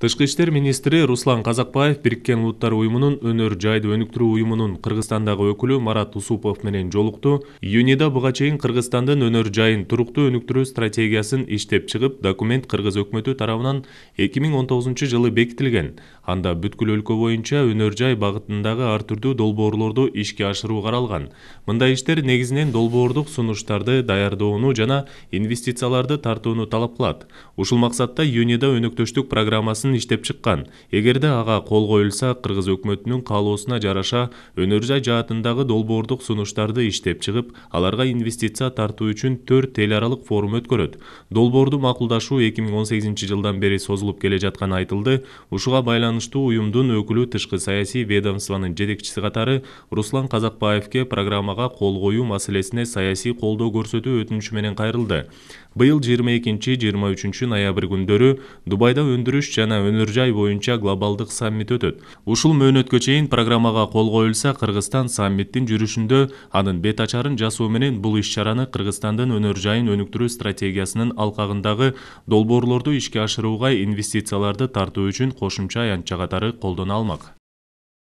Тышкы иштер министри Руслан Казакбаев Бириккен Улуттар уюмунун өнөр жайды өнүктүрүү уюмунун Кыргызстандагы өкүлү Марат Усупов менен жолукту. Июнида буга чейин Кыргызстандын өнөр жайын туруктуу өнүктүрүү стратегиясын иштеп чыгып, документ кыргыз өкмөтү тарабынан 2019-жылы бекитилген. Анда бүткүл өлкө боюнча өнөр жай багытындагы ар түрдүү долбоорлорду ишке ашыруу каралган. Мындай иштер негизинен долбоордук сунуштарды даярдоону жана инвестицияларды тартууну талап кылат. Ушул максатта июнида өнөктөштүк программасын иштеп чыккан. Эгерде ага кол коюлса, кыргыз өкмөтүнүн каалоосуна жараша өнөр жай жаатындагы долбоордук сунуштарды иштеп чыгып, аларга инвестиция тартуу үчүн 4 эл аралык форум өткөрөт. Долбоорду макулдашуу 2018-жылдан бери созулуп келе жатканы айтылды. Ушуга байланыштуу уюмдун өкүлү тышкы саясий ведомствонун жетекчиси катары Руслан Казакбаевке программага кол коюу маселесине саясий колдоо көрсөтүү өтүнүчү менен кайрылды. Быйыл 22-23 ноябрь күндөрү Дубайда өндүрүш жана өнөр жай боюнча глобалдык саммит өтөт. Ушул мөөнөткө чейин программага кол коюлса, Кыргызстан саммиттин жүрүшүндө анын бет ачарын жасоо менен бул иш-чараны Кыргызстандын өнөр жайын өнүктүрүү стратегиясынын алкагындагы долбоорлорду ишке ашырууга инвестицияларды тартуу үчүн кошумча аянтча катары колдоно алмак.